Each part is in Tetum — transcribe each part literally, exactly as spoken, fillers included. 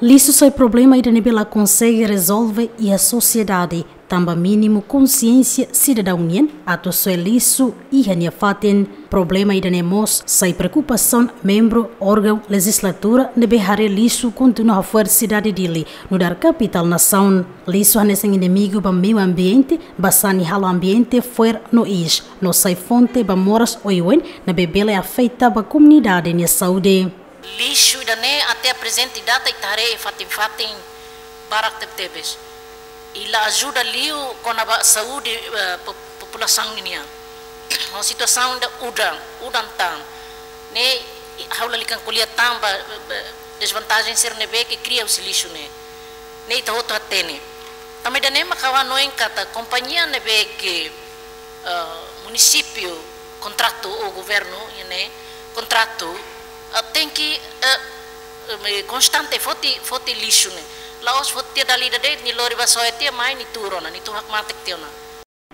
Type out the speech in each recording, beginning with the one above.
Lixu sai problema ida ne'ebé la konsege rezolve iha sosiedade, tanba mínimu konsiénsia sidadaun nian atu soe lixu iha nia fatin. Problema ida-ne'e mós sai preokupasaun membru órgaun lejizlatura ne'ebé haree lixu kontinua hafo'er sidade Dili, nu'udar kapitál nasaun. Lixu hanesan inimigu ba meiu ambiente, ba sani halo ambiente fo'er no iis, no sai fonte ba moras oioin ne'ebé bele afeta ba komunidade nia saúde. Lixu ida-ne'e até prezente data ita haree fatin-fatin barak tebetebes. I la ajuda liu kona-ba saúde, eh, po-, populasaun nian. Ho situasaun ida udan, udan tan. Ne'e ha'u lalika ko'alia tan ba, ba, ba dezvantajen sira ne'ebé ke kria husi lixu ne'e. Ne'e ita hotu hatene. Tanba ida-ne'e mak ha'u hanoin katak kompañia ne'ebé ke, eh, munisípiu kontratu ou governu, iha ne'e, kontratu, eh, tenke, eh, eh, konstante foti, foti lixu ne'e. La'ós foti tiha dala ida de'it, nia lori bá soe tiha mai nia tuur ona, nia tuur hakmatek tiha ona.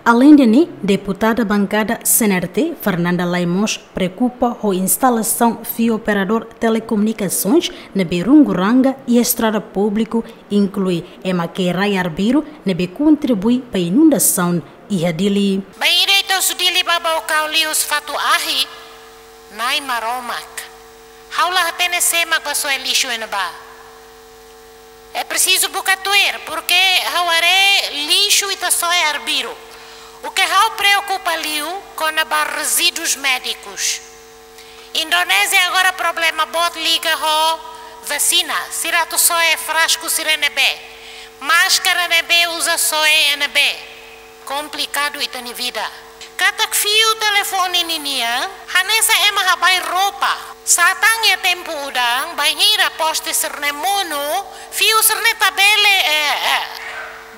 Aleinde ne'e, deputada bankada C N R T, Fernanda Lay mós preokupa ho instalasaun fiu operadór telekomunikasoens ne'ebé rungu ranga iha estrada públiku, inklui ema ke rai arbiru ne'ebé kontribui ba inundasaun iha Dili. Bainhira ita husu Dili bá Baucau liu husi fatuk ahi, Na'i Maromak. Ha'u la hatene sé mak bá soe lixu iha ne'ebá. É preciso buka tuir, porque ha'u haree lixu ita soe arbiru. O que ha'u preokupa liu kona-ba resíduos médicos. Indonézia agora problema boot liga ho vasina. Sira atu soe frasku sira ne'ebé. Máskara ne'ebé uza soe iha ne'ebé. Komplikadu ita-nia vida. Katak fiu telefone ninian, hanesan ema habai roupa. Satán iha tempu udan, bainhira poste sira-ne'e monu, fiu sira-ne'e ita bele, eh, eh,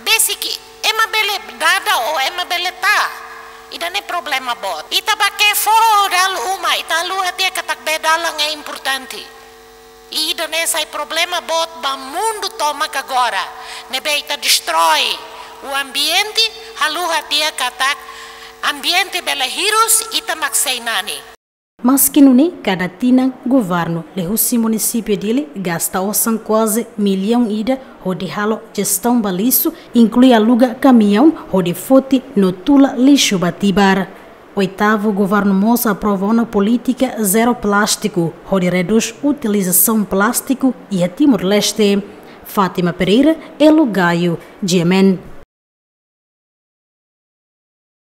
besik, ema bele dada ou ema bele taa. Ida-ne'e problema boot. Ita bá ke'e foho dala uma, ita haluha tiha katak bee dalan é importante. I ida-ne'e sai problema boot ba mundu tomak agora. Ne'ebé ita destrói o ambiente, haluha tiha katak ambiente bele hirus, ita mak sei nani. Maski nune'e, kada tinan governu liuhusi munisípiu Dili gasta osan kuaze millaun ida hodi halo jestaun ba lixu, inklui aluga kamiaun hodi foti no tula lixu ba Tibar. Oitavu governu mós aprova ona polítika zero plástiku, hodi redús utilizasaun plástiku iha Timor-Leste. Fátima Pereira, Elo Gaio, G M N.